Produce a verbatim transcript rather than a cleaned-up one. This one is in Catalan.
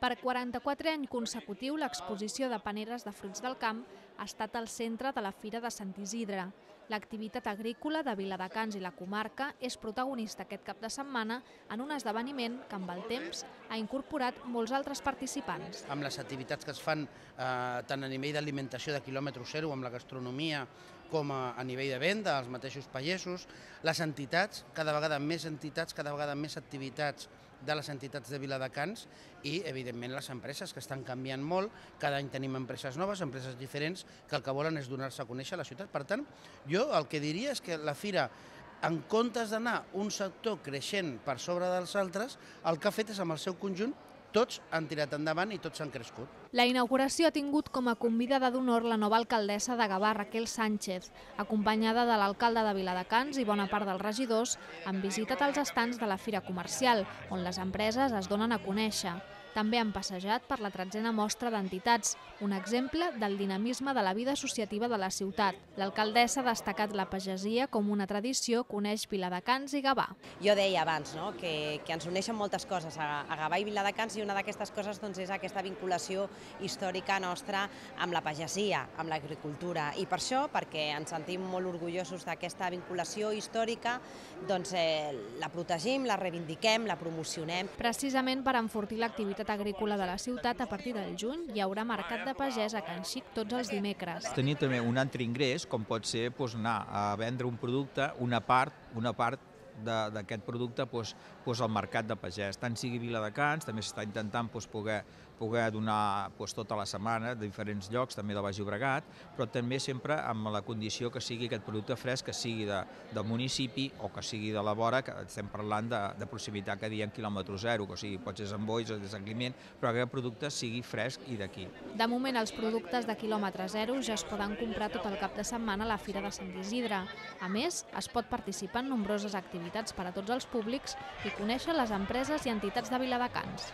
Per quaranta-quatre any consecutiu, l'exposició de paneres de fruits del camp ha estat al centre de la Fira de Sant Isidre. L'activitat agrícola de Viladecans i la comarca és protagonista aquest cap de setmana en un esdeveniment que amb el temps ha incorporat molts altres participants. Amb les activitats que es fan eh, tant a nivell d'alimentació de quilòmetre zero, amb la gastronomia, com a, a nivell de venda, els mateixos pagesos, les entitats, cada vegada més entitats, cada vegada més activitats de les entitats de Viladecans i, evidentment, les empreses que estan canviant molt. Cada any tenim empreses noves, empreses diferents, que el que volen és donar-se a conèixer a la ciutat. Per tant, jo el que diria és que la Fira, en comptes d'anar un sector creixent per sobre dels altres, el que ha fet és, amb el seu conjunt, tots han tirat endavant i tots han crescut. La inauguració ha tingut com a convidada d'honor la nova alcaldessa de Gavà, Raquel Sánchez, acompanyada de l'alcalde de Viladecans i bona part dels regidors, han visitat els estands de la Fira Comercial, on les empreses es donen a conèixer. També han passejat per la tretzena mostra d'entitats, un exemple del dinamisme de la vida associativa de la ciutat. L'alcaldessa ha destacat la pagesia com una tradició que uneix Viladecans i Gavà. Jo deia abans no? que, que ens uneixen moltes coses a, a Gavà i Viladecans, i una d'aquestes coses doncs, és aquesta vinculació històrica nostra amb la pagesia, amb l'agricultura. I per això, perquè ens sentim molt orgullosos d'aquesta vinculació històrica, doncs, eh, la protegim, la reivindiquem, la promocionem. Precisament per enfortir l'activitat agrícola de la ciutat, a partir del juny hi haurà mercat de pagès a Can Xic tots els dimecres. Tenir també un altre ingrés, com pot ser doncs, anar a vendre un producte, una part, una part d'aquest producte doncs, doncs, al mercat de pagès. Tant sigui Viladecans, també s'està intentant doncs, poder, poder donar doncs, tota la setmana de diferents llocs, també de Baix Llobregat, però també sempre amb la condició que sigui aquest producte fresc, que sigui de, del municipi o que sigui de la vora, que estem parlant de, de proximitat, que diem quilòmetre zero, que o sigui, pot ser en bois o de Sant Climent, però que aquest producte sigui fresc i d'aquí. De moment, els productes de quilòmetre zero ja es poden comprar tot el cap de setmana a la Fira de Sant Isidre. A més, es pot participar en nombroses activitats per a tots els públics i conèixer les empreses i entitats de Viladecans.